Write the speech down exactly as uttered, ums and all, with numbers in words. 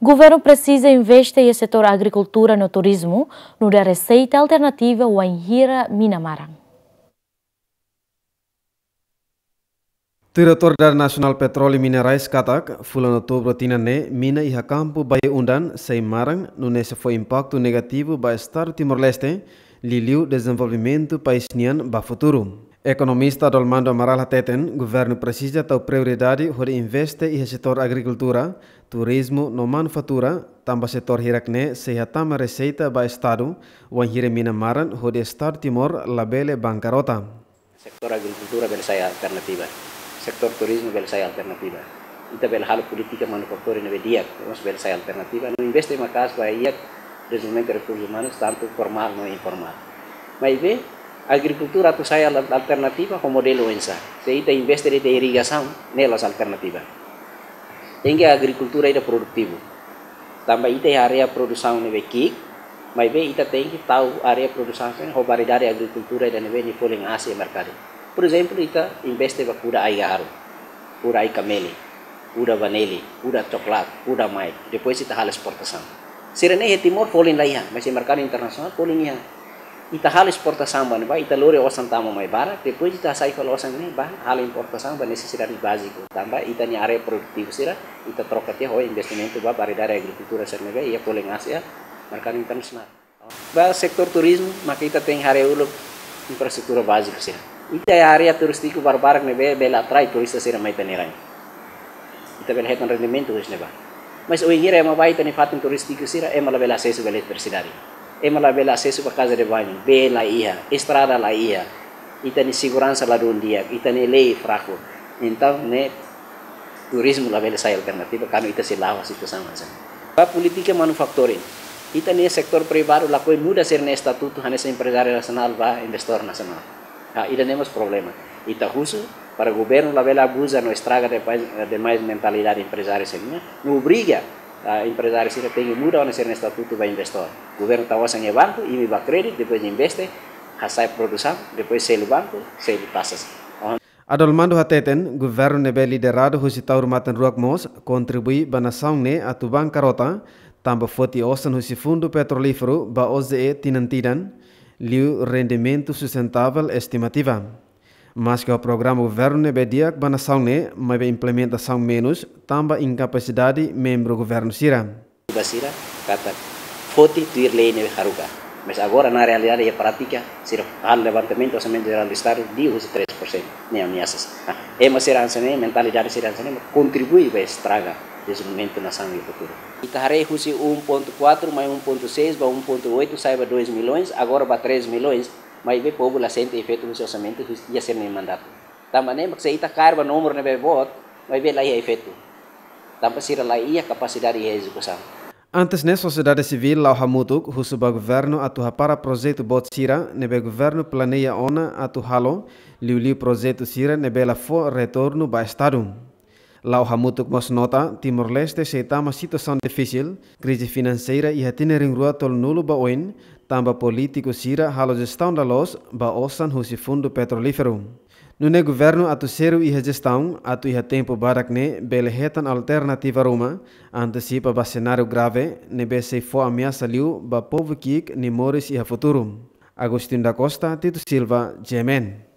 Governu presiza investe iha setór agrikultura no turizmu, nu'udar reseita alternativa wainhira mina maran. Tuir Autoridade Nasionál Petróleu i Minerais katak, fulan Outubru tinan ne'e, mina iha kampu Baía Undan sei maran, nune'e sei fó impaktu negativu ba Estadu Timor-Leste, liuliu dezenvolvimentu país nian ba futuru. Ekonomista Adolmando Amaral hateten, governu presiza tau prioridade hodi investe iha setór agrikultura, turizmu no manufatura, tanba setór hirak-ne'e sei hatama reseita ba Estadu, wainhira mina maran hodi Estadu Timor labele bankarota. Setór agrikultura bele sai alternativa. Setór turizmu bele sai alternativa. Ita bele halo polítika manufaktura ne'ebé di'ak, mós bele sai alternativa. No investe maka'as ba iha dezenvolvimentu rekursus umanus, tantu formál no informál. Maibé, agrikultura atu sai al-, alternativa ho modelu oinsá? Se ita investe de'it iha irrigasaun, ne'e la'ós alternativa. Tenke agrikultura ida produtivu. Tanba ita iha área produsaun ne'ebé ki'ik, maibé ita tenke tau área produsaun sira-ne'e ho variedade agrikultura ida ne'ebé nia folin aas iha merkadu. Por ezemplu, ita investe ba kuda ai gaharu, kuda ai kameli, kuda vaneli, kuda coklat, kuda maik. Depois ita halo esportasaun. Sira-ne'e iha Timor folin laiha, mas iha merkadu internasionál folin iha. Ita halo esportasaun ba ne'ebá, ita lori osan tama mai barak, depois ita hasai fali osan ne'e ba halo importasaun ba nesesidade báziku. Tanba ita-nia área produtivu sira, ita troka tiha ho investimentu ba variedade agrikultura sira ne'ebé iha folin aas iha merkadu internasionál. Ba setór turizmu, maka ita tenke haree uluk infraestrutura báziku sira. Ita iha área turístiku barbarak ne'ebé bele atrai turista sira mai ita-nia rain. Ita bele hetan rendimentu husi ne'ebá. Mas wainhira ema bá ita-nia fatin turístiku sira, ema labele asesu ba eletrisidade. Ema labele asesu ba kaza de bañu, bee laiha, estrada laiha. Ita-nia seguransa ladún di'ak, ita-nia lei fraku. Entaun, ne'e turizmu labele sai alternativa, kuandu ita sei la'o situasaun hanesan ne'e. Ba polítika manufacturing. Ita-nia setór privadu lakohi muda sira-nia estatutu hanesan emprezáriu nasionál ba investór nasionál. Ah, ida-ne'e mós problema. Ita husu para governu labele abuza no estraga demais, demais mentalidade emprezáriu sira-nian. No obriga, ah, emprezáriu sira tenke muda ona sira-nia estatutu ba investór. Governu tau osan iha banku, imi bá kréditu, depois investe, hasai produsaun, depois selu banku, selu tasas. Adolmando hateten, governu ne'ebé lideradu husi Taur Matan Ruak mós kontribui ba nasaun ne'e atu bankarota, tanba foti osan husi Fundu Petrolíferu ba O J E tinan-tinan, liu rendimentu sustentável estimativa. Maske ho programa governu ne'ebé di'ak ba nasaun ne'e, maibé implementasaun menus, tanba inkapasidade membru governu sira. Ba sira, katak foti tuir lei ne'ebé haruka. Mas agora, na realidade, iha prátika, sira halo levantamentu Orsamentu Jerál do Estadu, liu husi três por cento, ne'e ameasas. Ah, ema sira hanesan ne'e, mentalidade sira hanesan ne'e, kontribui ba estraga dezenvolvimentu nasaun iha futuru. Ita haree husi um ponto quatro mais um ponto seis ba um ponto oito, sai ba dois milhões, agora ba três milhões, maibé povu la sente efeitu husi orsamentu, husi iha sira-nia mandatu. Tanba ne'e, mak se ita kaer ba númeru ne'ebé boot, maibé laiha efeitu. Tanba sira laiha kapasidade iha ezekusaun. Antes ne'e, sosiedade sivíl la'o hamutuk husu ba governu atu hapara projetu boot sira ne'ebé governu planeia ona atu halo, liuliu projetu sira ne'ebé la fó retornu ba Estadu. La'o hamutuk mós nota, Timor-Leste sei tama situasaun difisil, krize finanseira iha tinan rihun rua tolunulu ba oin, tanba polítiku sira halo jestaun laloos ba osan husi Fundu Petrolíferu. Nune'e governu atu sériu iha jestaun, atu iha tempu badak ne'e bele hetan alternativa ruma, antesipa ba senáriu grave, ne'ebé sei fó ameasa liu ba povu ki'ik nia moris iha futuru. Agostinho da Costa, Tito Silva, G M N.